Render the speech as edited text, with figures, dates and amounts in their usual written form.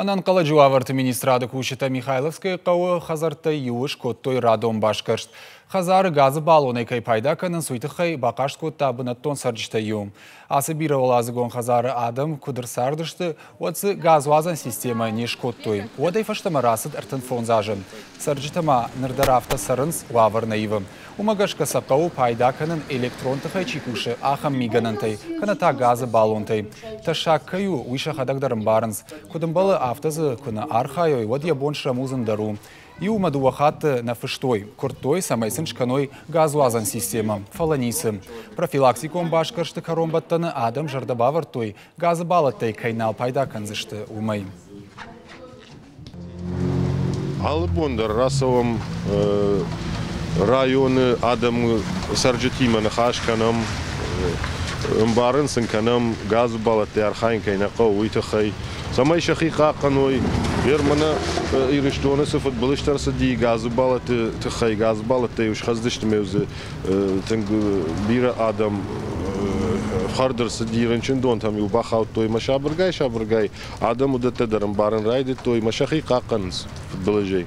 Ӕнӕнхъӕлӕджы уавӕрты министрады кусджытӕ Михайловскӕйы хъӕуы хӕдзӕрттӕй иуы скодтой радон басгӕрст. Хӕдзары газы баллонӕй кӕй пайда кӕнынц, уый тыххӕй бахъаст кодта бынӕттон цӕрджытӕй иу. Ацы бирӕуӕладзыгон хӕдзары адӕм куыд ӕрцардысты, уӕд дзы газуадзӕн системӕ не скодтой. Уӕдӕй фӕстӕмӕ рацыд 35 азы. Цӕрджытӕ ма ныр дӕр афтӕ цӕрынц, уавӕр нӕ ивы. Уымӕ гӕсгӕ сӕ хъӕуы пайда кӕнын электрон тыхӕй чи кусы, ахӕм мигӕнӕнтӕй, кӕнӕ та газы баллонтӕй. Тӕссаг кӕй у, уый сӕхӕдӕг дӕр ӕмбарынц. Куыд ӕмбӕлы, афтӕ дзы куы нӕ архайой, уӕд йӕ бон срӕмудзын дӕр у. Иу ӕмӕ дыууӕ хатты нӕ фыстой, куырдтой, цӕмӕй сын скӕной газуадзӕн системӕ, фӕлӕ ницы. Профилактикон басгӕрсты кӕронбӕттӕны адӕм зӕрдӕ бавӕрдтой, газы баллӕттӕй кӕй нал пайда кӕндзысты, уымӕй. Алы бон дӕр рацӕуӕм районы адӕмы цӕрджытимӕ ныхас кӕнӕм, ӕмбарын сын кӕнӕм, газы баллӕттӕй архайын кӕй нӕ хъӕуы, уый тыххӕй, цӕмӕй сӕхи хъахъхъӕной. Германы Ирыстоны цы фыдбылызтӕ ӕрцыди газы баллӕтты тыххӕй, газы баллӕттӕ-иу схӕцдысты ӕмӕ дзы тынг бирӕ адӕм ӕфхӕрд ӕрцыди, рынчындонтӕм-иу бахаудтой ӕмӕ сабыргай-сабыргай адӕм уыдӕттӕ дӕр ӕмбарын райдыдтой ӕмӕ сӕхи хъахъхъӕнынц фыдбылызӕй.